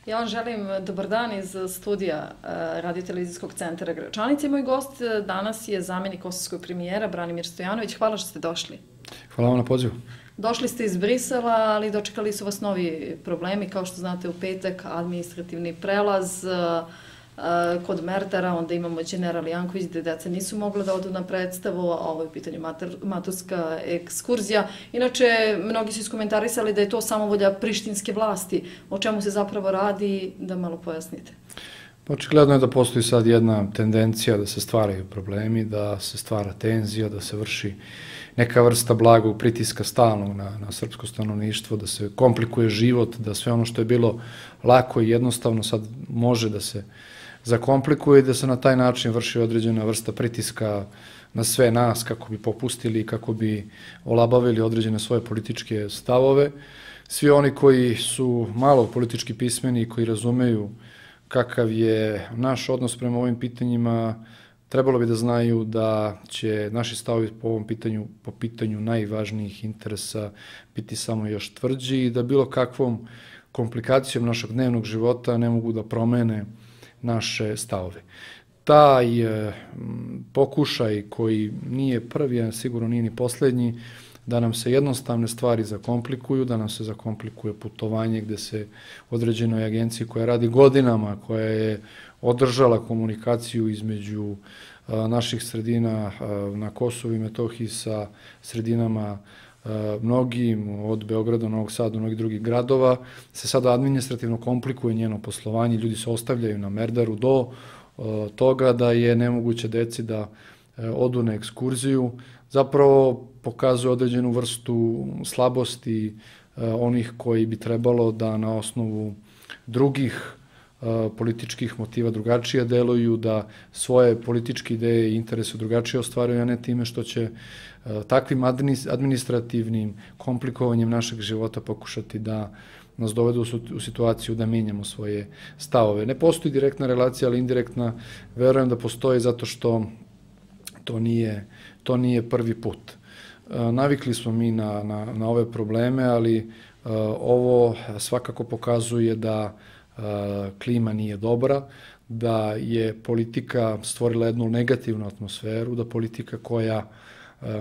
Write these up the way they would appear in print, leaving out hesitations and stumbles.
Ja vam želim dobar dan iz studija Radio-televizijskog centra Gračanica i moj gost danas je zamjenik kosovskog premijera Branimir Stojanović. Hvala što ste došli. Hvala vam na pozivu. Došli ste iz Brisela, ali dočekali su vas novi problemi. Kao što znate, u petak administrativni prelaz kod Merdara, onda imamo General Janković gde deca nisu mogla da odu na predstavu, a ovo je u pitanju maturska ekskurzija. Inače, mnogi su iskomentarisali da je to samovolja prištinske vlasti. O čemu se zapravo radi, da malo pojasnite. Očigledno je da postoji sad jedna tendencija da se stvaraju problemi, da se stvara tenzija, da se vrši neka vrsta blagog pritiska stalnog na srpsko stanovništvo, da se komplikuje život, da sve ono što je bilo lako i jednostavno sad može da se zakomplikuje i da se na taj način vrši određena vrsta pritiska na sve nas kako bi popustili, kako bi olabavili određene svoje političke stavove. Svi oni koji su malo politički pismeni i koji razumeju kakav je naš odnos prema ovim pitanjima, trebalo bi da znaju da će naši stavovi po ovom pitanju, po pitanju najvažnijih interesa biti samo još tvrđi i da bilo kakvom komplikacijom našeg dnevnog života ne mogu da promene naše stavove. Taj pokušaj koji nije prvi, a sigurno nije ni poslednji, da nam se jednostavne stvari zakomplikuju, da nam se zakomplikuje putovanje gde se određenoj agenciji koja radi godinama, koja je održala komunikaciju između naših sredina na Kosovu i Metohiji sa sredinama mnogim, od Beograda, Novog Sada do mnogih drugih gradova, se sada administrativno komplikuje njeno poslovanje, ljudi se ostavljaju na Merdaru do toga da je nemoguće deci da odu na ekskurziju, zapravo pokazuje određenu vrstu slabosti onih koji bi trebalo da na osnovu drugih političkih motiva drugačije deluju, da svoje političke ideje i interese drugačije ostvaruju, a ne time što će takvim administrativnim komplikovanjem našeg života pokušati da nas dovedu u situaciju da menjamo svoje stavove. Ne postoji direktna relacija, ali indirektna verujem da postoji zato što to nije prvi put. Navikli smo mi na ove probleme, ali ovo svakako pokazuje da klima nije dobra, da je politika stvorila jednu negativnu atmosferu, da politika koja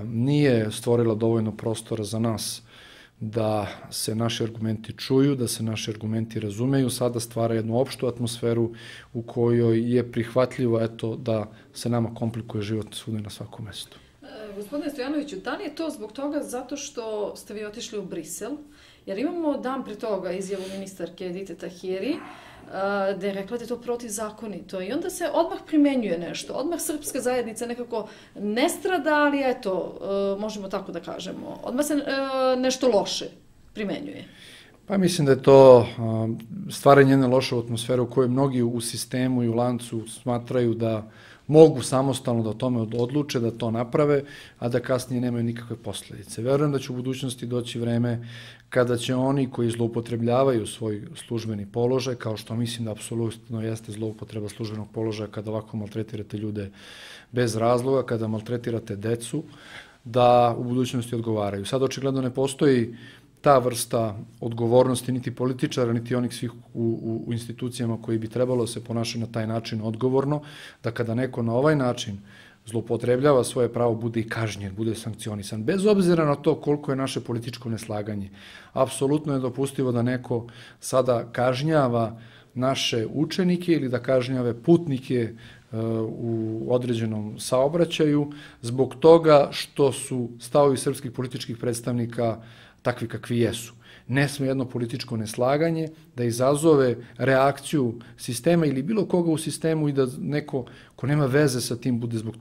nije stvorila dovoljno prostora za nas da se naši argumenti čuju, da se naši argumenti razumeju, sada stvara jednu opštu atmosferu u kojoj je prihvatljivo da se nama komplikuje život svuda na svakom mestu. Gospodine Stojanoviću, da li je to zbog toga zato što ste vi otišli u Brisel? Jer imamo dan pre toga izjavu ministarke Edite Tahiri, da je rekla da je to protivzakonito i onda se odmah primenjuje nešto. Odmah srpska zajednica nekako ne strada, ali eto, možemo tako da kažemo, odmah se nešto loše primenjuje. Pa mislim da je to stvaranje jedne loše atmosfere u kojoj mnogi u sistemu i u lancu smatraju da mogu samostalno da o tome odluče, da to naprave, a da kasnije nemaju nikakve posledice. Verujem da će u budućnosti doći vreme kada će oni koji zloupotrebljavaju svoj službeni položaj, kao što mislim da apsolutno jeste zloupotreba službenog položaja kada ovako maltretirate ljude bez razloga, kada maltretirate decu, da u budućnosti odgovaraju. Sad očigledno ne postoji ta vrsta odgovornosti niti političara, niti onih svih u institucijama koji bi trebalo se ponašati na taj način odgovorno, da kada neko na ovaj način zloupotrebljava svoje pravo, bude i kažnjen, bude sankcionisan, bez obzira na to koliko je naše političko neslaganje. Apsolutno je dopustivo da neko sada kažnjava naše učenike ili da kažnjave putnike u određenom saobraćaju zbog toga što su stavovi srpskih političkih predstavnika takvi kakvi jesu. Ne sme jedno političko neslaganje da izazove reakciju sistema ili bilo koga u sistemu i da neko ko nema veze sa tim bude zbog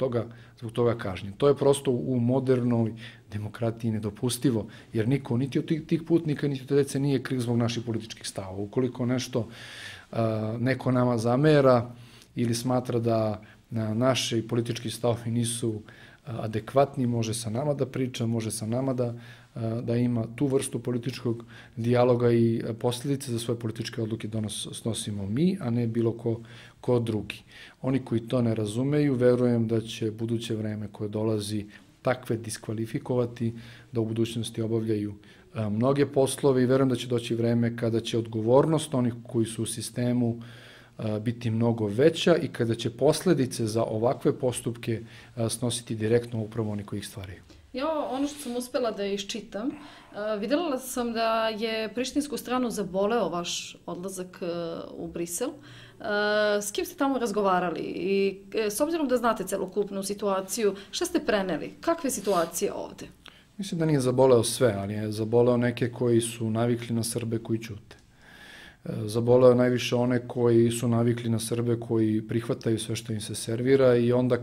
toga kažnjen. To je prosto u modernoj demokratiji nedopustivo, jer niko, niti od tih putnika, niti od dece nije kriv zbog naših političkih stavova. Ukoliko nešto neko nama zamera ili smatra da naši politički stavovi nisu adekvatni, može sa nama da priča, može sa nama da ima tu vrstu političkog dijaloga i posljedice za svoje političke odluke snosimo mi, a ne bilo ko drugi. Oni koji to ne razumeju, verujem da će buduće vreme koje dolazi takve diskvalifikovati, da u budućnosti obavljaju mnoge poslove i verujem da će doći vreme kada će odgovornost onih koji su u sistemu biti mnogo veća i kada će posledice za ovakve postupke snositi direktno upravo oni koji ih stvaraju. Ja, ono što sam uspela da iščitam, videla sam da je prištinsku stranu zaboleo vaš odlazak u Brisel. S kim ste tamo razgovarali i s obzirom da znate celokupnu situaciju, šta ste preneli? Kakve situacije ovde? Mislim da nije zaboleo sve, ali je zaboleo neke koji su navikli na Srbe koji ćute. Zaboleo najviše one koji su navikli na Srbe koji prihvataju sve što im se servira i onda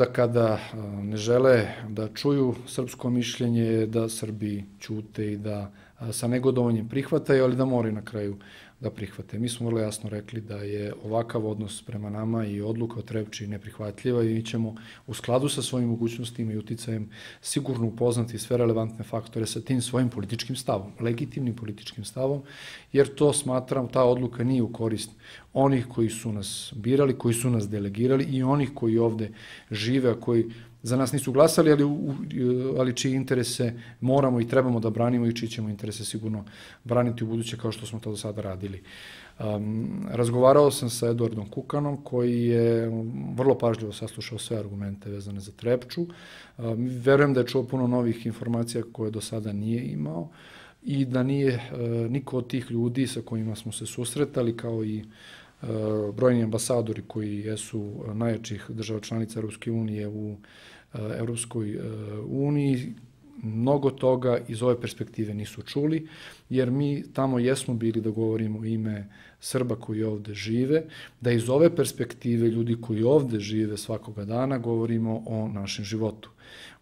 kada ne žele da čuju srpsko mišljenje, da Srbi ćute i da sa negodovanjem prihvataju, ali da moraju na kraju da prihvate. Mi smo vrlo jasno rekli da je ovakav odnos prema nama i odluka o Trepči neprihvatljiva i mi ćemo u skladu sa svojim mogućnostima i uticajem sigurno upoznati sve relevantne faktore sa tim svojim političkim stavom, legitimnim političkim stavom, jer to smatram, ta odluka nije u korist onih koji su nas birali, koji su nas delegirali i onih koji ovde žive, a koji za nas nisu glasali, ali čiji interese moramo i trebamo da branimo i čiji ćemo interese sigurno braniti u buduće kao što smo to do sada radili. Razgovarao sam sa Eduardom Kukanom koji je vrlo pažljivo saslušao sve argumente vezane za Trepču. Verujem da je čuo puno novih informacija koje do sada nije imao i da nije niko od tih ljudi sa kojima smo se susretali kao i brojni ambasadori koji jesu najjačih država članica Europske unije u Europskoj uniji, mnogo toga iz ove perspektive nisu čuli, jer mi tamo jesmo bili da govorimo o ime Srba koji ovde žive, da iz ove perspektive ljudi koji ovde žive svakoga dana govorimo o našem životu.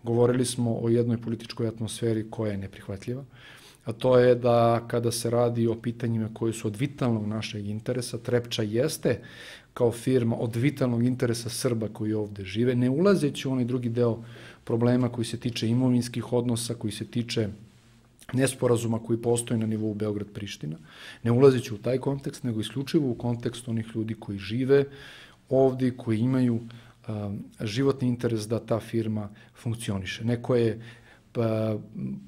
Govorili smo o jednoj političkoj atmosferi koja je neprihvatljiva, a to je da kada se radi o pitanjima koje su od vitalnog našeg interesa, Trepča jeste kao firma od vitalnog interesa Srba koji ovde žive, ne ulazeći u onaj drugi deo problema koji se tiče imovinskih odnosa, koji se tiče nesporazuma koji postoji na nivou Beograd-Priština, ne ulazeći u taj kontekst, nego isključivo u kontekst onih ljudi koji žive ovde, koji imaju životni interes da ta firma funkcioniše. Neko je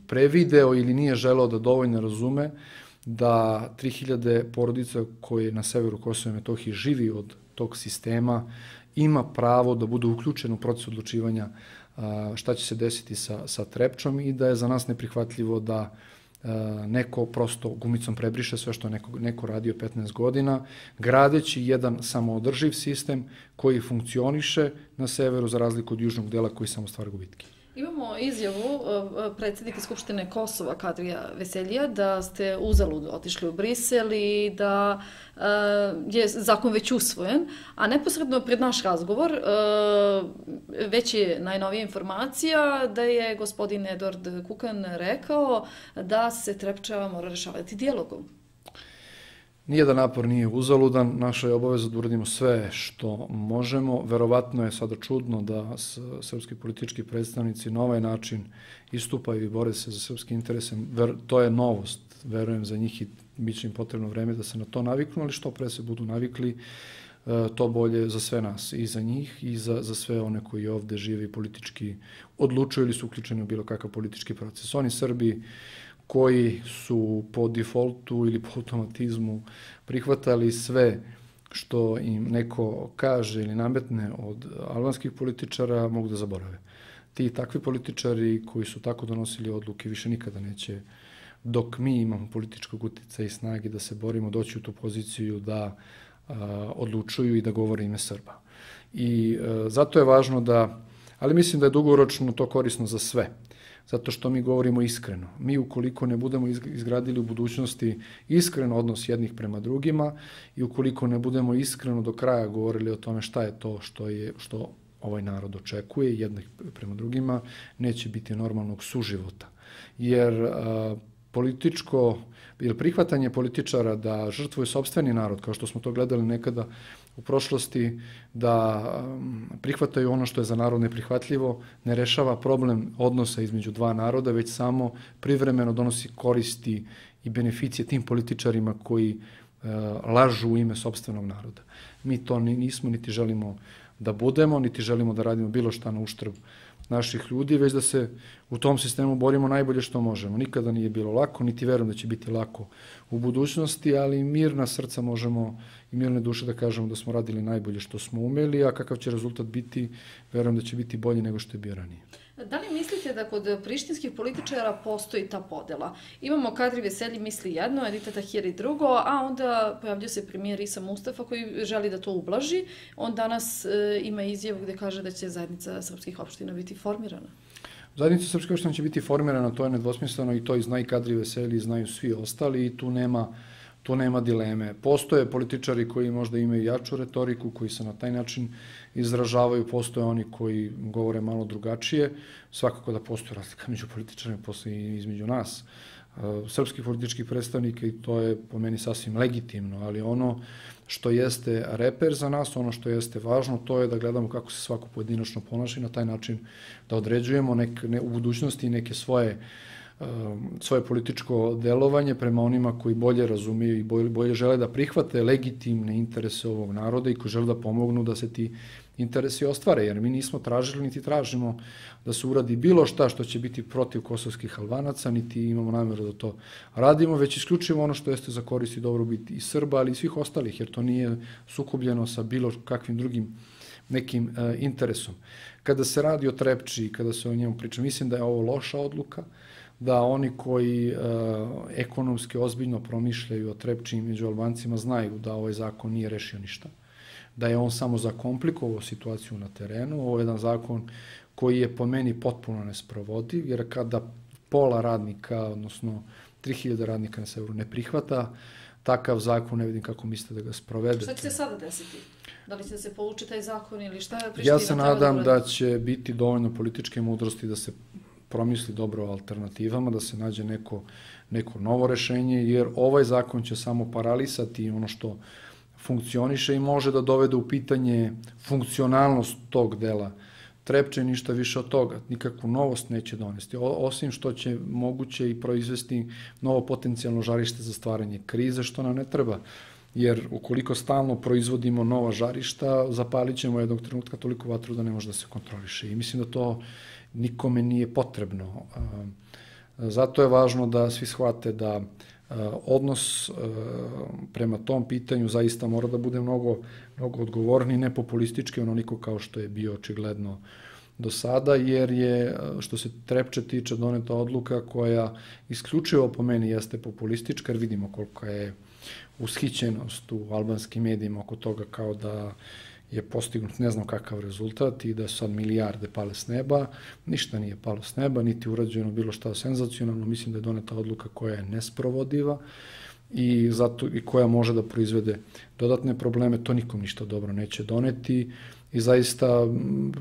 prevideo ili nije želeo da dovoljno razume da 3000 porodica koje na severu Kosova i Metohije živi od tog sistema ima pravo da bude uključen u proces odlučivanja šta će se desiti sa Trepčom i da je za nas neprihvatljivo da neko prosto gumicom prebriše sve što neko radio 15 godina, gradeći jedan samoodrživ sistem koji funkcioniše na severu za razliku od južnog dela koji samo stvara gubitke. Imamo izjavu predsjednika Skupštine Kosova, Kadrija Veseljija, da ste uzalud otišli u Brisel i da je zakon već usvojen, a neposredno pred naš razgovor već je najnovija informacija da je gospodin Eduard Kukan rekao da se Trepča mora rešavati dijalogom. Nijedan napor nije uzaludan, naša je obaveza da uradimo sve što možemo. Verovatno je sada čudno da srpski politički predstavnici na ovaj način istupaju i bore se za srpske interese. To je novost, verujem za njih i bit će im potrebno vreme da se na to naviknu, ali što pre se budu navikli, to bolje za sve nas, i za njih i za sve one koji ovde žive i politički odlučuju ili su uključeni u bilo kakav politički proces. Oni Srbi koji su po defaultu ili po automatizmu prihvatali sve što im neko kaže ili nametne od albanskih političara, mogu da zaborave. Ti takvi političari koji su tako donosili odluke više nikada neće, dok mi imamo političkog uticaja i snage da se borimo, doći u tu poziciju da odlučuju i da govore ime Srba. I zato je važno da, ali mislim da je dugoročno to korisno za sve, zato što mi govorimo iskreno. Mi ukoliko ne budemo izgradili u budućnosti iskren odnos jednih prema drugima i ukoliko ne budemo iskreno do kraja govorili o tome šta je to što ovaj narod očekuje jednih prema drugima, neće biti normalnog suživota. Jer prihvatanje političara da žrtvuju sopstveni narod, kao što smo to gledali nekada u prošlosti, da prihvataju ono što je za narod neprihvatljivo, ne rešava problem odnosa između dva naroda, već samo privremeno donosi koristi i beneficije tim političarima koji lažu u ime sopstvenog naroda. Mi to nismo niti želimo da budemo, niti želimo da radimo bilo šta na uštrb naših ljudi, već da se u tom sistemu borimo najbolje što možemo. Nikada nije bilo lako, niti verujem da će biti lako u budućnosti, ali mirna srca možemo i mirne duše da kažemo da smo radili najbolje što smo umeli, a kakav će rezultat biti, verujem da će biti bolji nego što je bio ranije. Da li mislite da kod prištinskih političara postoji ta podela? Imamo Kadri Veselji misli jedno, Edita Tahiri drugo, a onda pojavljuje se premijer Isa Mustafa koji želi da to ublaži. On danas ima izjavu gde kaže da će zajednica srpskih opština biti formirana. Zajednica srpskih opština će biti formirana, to je nedvosmisleno i to i zna i Kadri Veselji, znaju svi ostali i tu nema dileme. Postoje političari koji možda imaju jaču retoriku, koji se na taj način izražavaju, postoje oni koji govore malo drugačije, svakako da postoje razlika među političarima, postoje i između nas, srpskih političkih predstavnika, i to je po meni sasvim legitimno, ali ono što jeste reper za nas, ono što jeste važno, to je da gledamo kako se svako pojedinačno ponaša i na taj način da određujemo u budućnosti neke svoje političko delovanje prema onima koji bolje razumiju i bolje žele da prihvate legitimne interese ovog naroda i koji žele da pomognu da se ti interesi ostvare, jer mi nismo tražili niti tražimo da se uradi bilo šta što će biti protiv kosovskih Albanaca, niti imamo namjeru da to radimo, već isključivo ono što jeste za korist i dobrobit i Srba, ali i svih ostalih, jer to nije sukobljeno sa bilo kakvim drugim nekim interesom. Kada se radi o Trepči, kada se o njemu priča, mislim da je ovo loša odluka, da oni koji ekonomski ozbiljno promišljaju o Trepči među Albancima znaju da ovaj zakon nije rešio ništa, da je on samo zakomplikovao situaciju na terenu. Ovo je jedan zakon koji je po meni potpuno nesprovodiv, jer kada pola radnika, odnosno 3000 radnika na severu ne prihvata takav zakon, ne vidim kako mislite da ga sprovedete. Šta će se sada desiti? Da li će se povući taj zakon ili šta je Priština? Ja se nadam da će biti dovoljno političke mudrosti da se promisli dobro o alternativama, da se nađe neko novo rešenje, jer ovaj zakon će samo paralisati ono što funkcioniše i može da dovede u pitanje funkcionalnost tog dela Trepče, ništa više od toga. Nikakvu novost neće donesti, osim što će moguće i proizvesti novo potencijalno žarište za stvaranje krize, što nam ne treba. Jer ukoliko stalno proizvodimo nova žarišta, zapalit ćemo jednog trenutka toliko vatru da ne može da se kontroliše. I mislim da to nikome nije potrebno. Zato je važno da svi shvate da odnos prema tom pitanju zaista mora da bude mnogo odgovorniji, ne populistički, onoliko kao što je bio očigledno do sada, jer je, što se Trepče tiče, doneta odluka koja isključivo po meni jeste populistička, jer vidimo kolika je ushićenost u albanskim medijima oko toga, kao da je postignut ne znam kakav rezultat i da su sad milijarde pale s neba. Ništa nije palo s neba, niti urađeno bilo šta senzacionalno. Mislim da je doneta odluka koja je nesprovodiva i koja može da proizvede dodatne probleme. To nikom ništa dobro neće doneti i zaista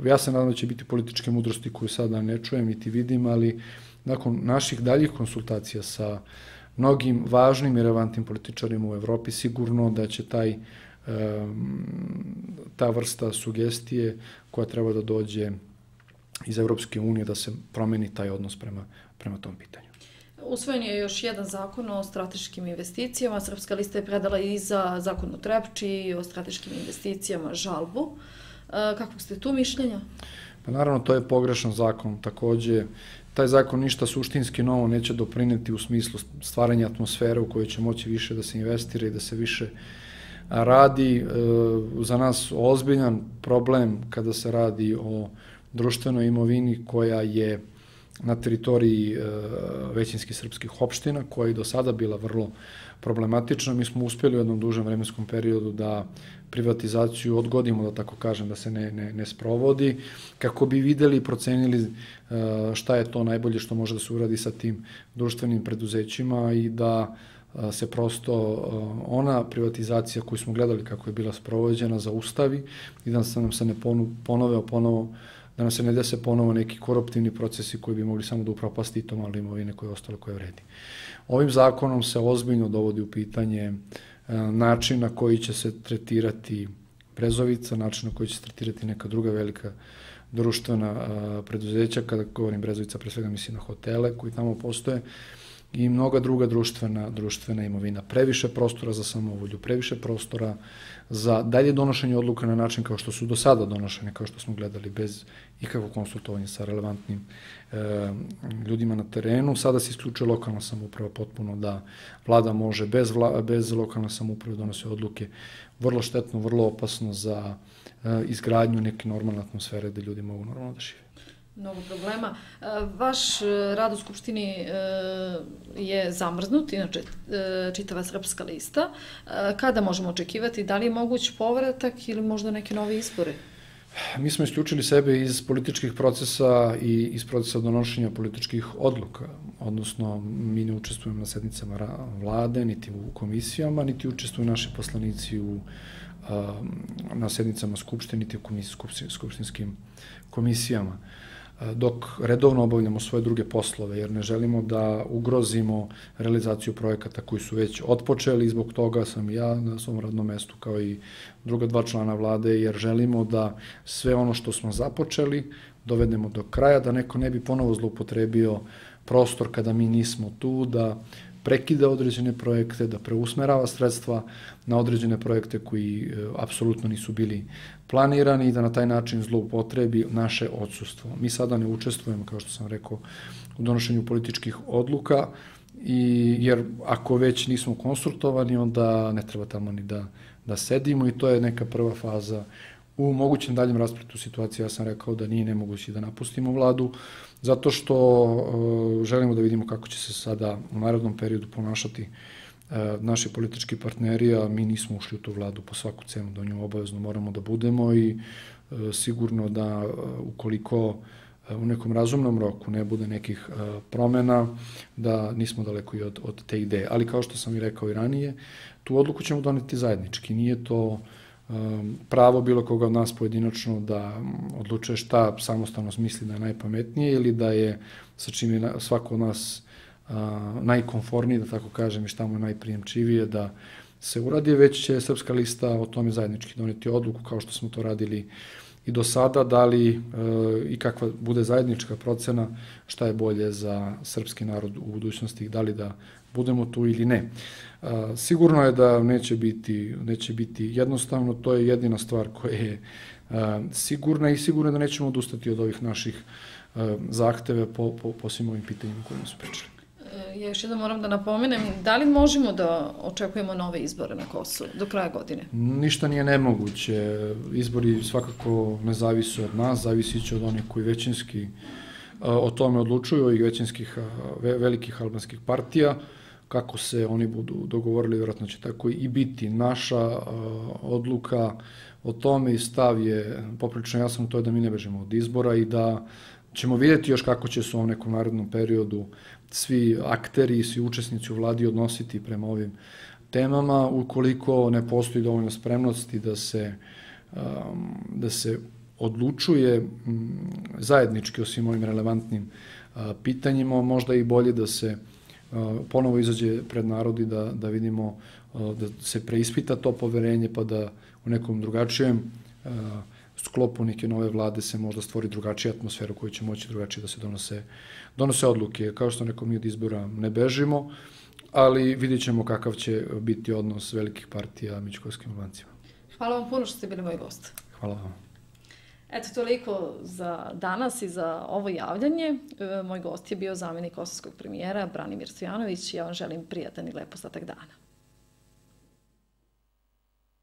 ja se nadam da će biti političke mudrosti koju sada ne čujem niti vidim, ali nakon naših daljih konsultacija sa mnogim važnim i relevantnim političarima u Evropi sigurno da će ta vrsta sugestije koja treba da dođe iz Evropske unije da se promeni taj odnos prema tom pitanju. Usvojen je još jedan zakon o strateškim investicijama. Srpska lista je predala i za zakon o Trepči i o strateškim investicijama žalbu. Kakvog ste tu mišljenja? Pa naravno, to je pogrešan zakon. Takođe, taj zakon ništa suštinski novo neće doprineti u smislu stvaranja atmosfere u kojoj će moći više da se investira i da se više radi. Za nas ozbiljan problem kada se radi o društvenoj imovini koja je na teritoriji većinskih srpskih opština, koja je do sada bila vrlo problematična. Mi smo uspjeli u jednom dužem vremenskom periodu da privatizaciju odgodimo, da tako kažem, da se ne sprovodi, kako bi videli i procenili šta je to najbolje što može da se uradi sa tim društvenim preduzećima i da se prosto ona privatizacija koju smo gledali kako je bila sprovođena zaustavi i da nam se ne ponove ponovo, da nam se ne dese ponovo neki koruptivni procesi koji bi mogli samo da upropasti i to malo imovine koje je ostalo, koje vredi. Ovim zakonom se ozbiljno dovodi u pitanje način na koji će se tretirati Brezovica, način na koji će se tretirati neka druga velika društvena preduzeća. Kada govorim Brezovica, pre svega mislim na hotele koji tamo postoje. i mnoga druga društvena imovina. Previše prostora za samovolju, previše prostora za dalje donošenje odluka na način kao što su do sada donošene, kao što smo gledali, bez ikakvog konsultovanja sa relevantnim ljudima na terenu. Sada se isključuje lokalna samouprava potpuno, da vlada može bez lokalne samouprave donose odluke. Vrlo štetno, vrlo opasno za izgradnju neke normalne atmosfere gde ljudi mogu normalno da žive. Mnogo problema. Vaš rad u Skupštini je zamrznut, inače čitava Srpska lista. Kada možemo očekivati? Da li je moguć povratak ili možda neke nove izbore? Mi smo isključili sebe iz političkih procesa i iz procesa donošenja političkih odluka, odnosno mi ne učestvujemo na sednicama vlade, niti u komisijama, niti učestvuju naši poslanici na sednicama Skupštine, niti u skupštinskim komisijama, dok redovno obavljamo svoje druge poslove, jer ne želimo da ugrozimo realizaciju projekata koji su već otpočeli i zbog toga sam i ja na svom radnom mestu kao i druga 2 člana vlade, jer želimo da sve ono što smo započeli dovedemo do kraja, da neko ne bi ponovo zloupotrebio prostor kada mi nismo tu, da prekida određene projekte, da preusmerava sredstva na određene projekte koji apsolutno nisu bili planirani i da na taj način zloupotrebi naše odsustvo. Mi sada ne učestvujemo, kao što sam rekao, u donošenju političkih odluka, jer ako već nismo konsultovani, onda ne treba tamo ni da sedimo i to je neka prva faza u mogućem daljem raspletu situacije. Ja sam rekao da nije nemoguće da napustimo vladu, zato što želimo da vidimo kako će se sada u narednom periodu ponašati naši politički partneri, a mi nismo ušli u tu vladu po svaku cenu, da u njoj obavezno moramo da budemo i sigurno da ukoliko u nekom razumnom roku ne bude nekih promena, da nismo daleko i od te ideje. Ali kao što sam i rekao i ranije, tu odluku ćemo doneti zajednički. Nije to pravo bilo koga od nas pojedinačno da odlučuje šta samostalno misli da je najpametnije ili da je sa čim je svako od nas najkonforniji, da tako kažem, i šta mu je najprijemčivije da se uradi, već će Srpska lista o tome zajednički doneti odluku, kao što smo to radili i do sada, da li i kakva bude zajednička procena šta je bolje za srpski narod u budućnosti, da li da budemo tu ili ne. Sigurno je da neće biti jednostavno, to je jedina stvar koja je sigurna i sigurno je da nećemo odustati od ovih naših zahteve po svim ovim pitanjima kojima su pričali. Ja još jednom moram da napomenem, da li možemo da očekujemo nove izbore na Kosovu do kraja godine? Ništa nije nemoguće. Izbori svakako ne zavise od nas, zavisi će od onih koji većinski o tome odlučuju, ovih većinskih velikih albanskih partija. Kako se oni budu dogovorili, vjerojatno će tako i biti. Naša odluka o tome i stav je poprilično jasan, to je da mi ne bežemo od izbora i da ćemo vidjeti još kako će se u nekom narednom periodu svi akteri i svi učesnici u vladi odnositi prema ovim temama, ukoliko ne postoji dovoljno spremnosti da se odlučuje zajednički o svim ovim relevantnim pitanjima, možda i bolje da se ponovo izađe pred narod i da vidimo, da se preispita to poverenje, pa da u nekom drugačijem sklopu neke nove vlade se možda stvori drugačija atmosfera u kojoj će moći drugačije da se donose odluke. Kao što nekom mi od izbora ne bežimo, ali vidjet ćemo kakav će biti odnos velikih partija među kosovskim Albancima. Hvala vam puno što ste bili moj gost. Hvala vam. Eto, toliko za danas i za ovo javljanje. Moj gost je bio zamjenik kosovskog premijera Branimir Stojanović. Ja vam želim prijatan i lep ostatak dana.